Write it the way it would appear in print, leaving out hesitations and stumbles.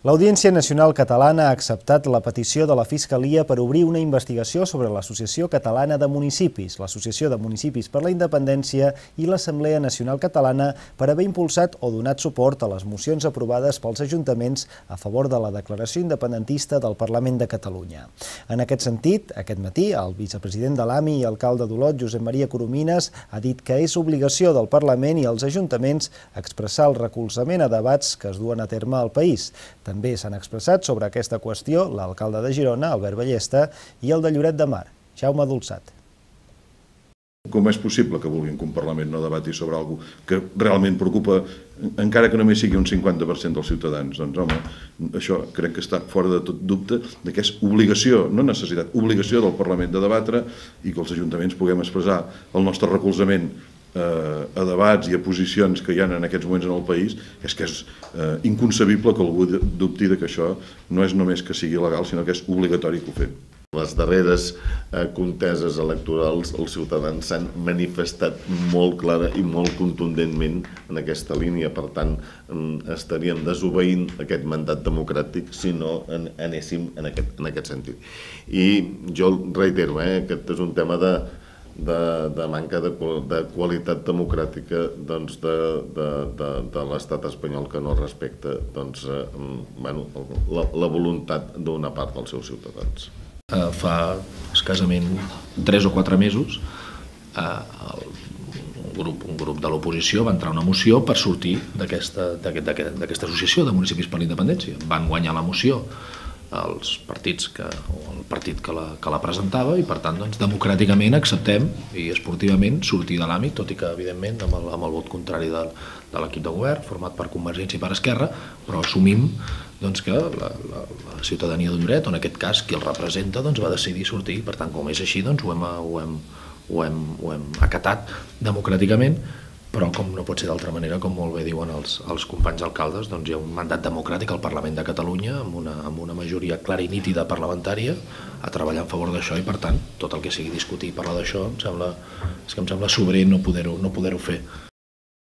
L'Audiència Nacional Catalana ha acceptat la petició de la Fiscalia per obrir una investigació sobre l'Associació Catalana de Municipis, l'Associació de Municipis per la Independència i l'Assemblea Nacional Catalana per haver impulsat o donat suport a les mocions aprovades pels ajuntaments a favor de la declaració independentista del Parlament de Catalunya. En aquest sentit, aquest matí, el vicepresident de l'AMI i alcalde d'Olot, Josep Maria Coromines, ha dit que és obligació del Parlament i els ajuntaments expressar el recolzament a debats que es duen a terme al país. També s'han expressat sobre aquesta qüestió l'alcalde de Girona, Albert Ballesta, i el de Lloret de Mar, Jaume Dolçat. Com és possible que vulguin que un Parlament no debati sobre alguna cosa que realment preocupa, encara que només sigui un 50% dels ciutadans? Doncs, home, això crec que està fora de tot dubte de que és obligació, no necessitat, obligació del Parlament de debatre i que els ajuntaments puguem expressar el nostre recolzament a debats i a posicions que hi ha en aquests moments en el país. És que és inconcebible que algú dubti que això no és només que sigui legal, sinó que és obligatori que ho fem. Les darreres conteses electorals, els ciutadans s'han manifestat molt clara i molt contundentment en aquesta línia. Per tant, estaríem desobeint aquest mandat democràtic si no anéssim en aquest sentit. I jo reitero, aquest és un tema de manca de qualitat democràtica de l'estat espanyol, que no respecta la voluntat d'una part dels seus ciutadans. Fa escassament 3 o 4 mesos un grup de l'oposició va entrar una moció per sortir d'aquesta associació de municipis per la independència. Van guanyar la moció els partits o el partit que la presentava i, per tant, democràticament acceptem i esportivament sortir de l'àmbit, tot i que, evidentment, amb el vot contrari de l'equip de govern, format per Convergència i per Esquerra, però assumim que la ciutadania de Lloret, o en aquest cas qui el representa, va decidir sortir. Per tant, com és així, ho hem acatat democràticament, però com no pot ser d'altra manera, com molt bé diuen els companys alcaldes, hi ha un mandat democràtic al Parlament de Catalunya amb una majoria clara i nítida parlamentària a treballar en favor d'això, i per tant tot el que sigui discutir i parlar d'això em sembla sobrer no poder-ho fer.